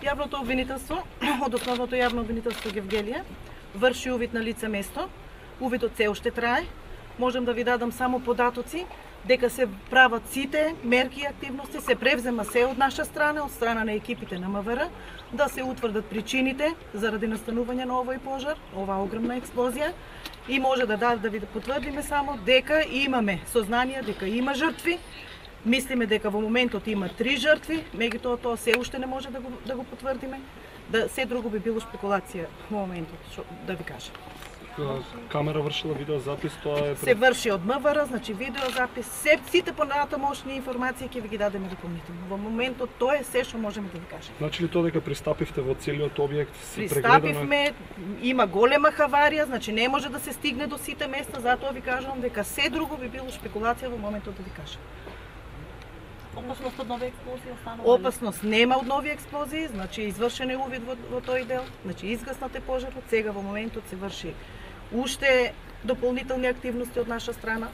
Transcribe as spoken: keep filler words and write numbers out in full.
Јавното обвинителство од Основното јавно обвинителство Гевгелија врши увид на лице место. Увидот се уште трае. Можам да ви дадам само податоци дека се прават сите мерки и активности, се превзема се од наша страна, од страна на екипите на МВР, да се утврдат причините заради настанување на овој пожар, оваа огромна експлозија, и може да да, да ви потврдиме само дека имаме сознание дека има жртви. Мислиме дека во моментот има три жртви, меѓутоа тоа се уште не може да го, да го потврдиме. Да, се друго би било спекулација во моментот, шо, да ви кажам. Камера вршила видеозапис, тоа е... Се врши од МВР, значи видеозапис, се, сите понатамошни информации ќе ви ги дадеме дополнително. Во моментот тоа е се што можеме да ви кажеме. Значи ли тоа дека пристапивте во целиот објект? Пристапивме, има голема хаварија, значи не може да се стигне до сите места, затоа ви кажувам дека се друго би било спекулација во моментот да ви кажам. Опасност од нови експлозии останува? Опасност нема од нови експлозии, значи извршен е увид во, во тој дел, значи изгаснате пожарот, сега во моментот се врши уште дополнителни активности од наша страна.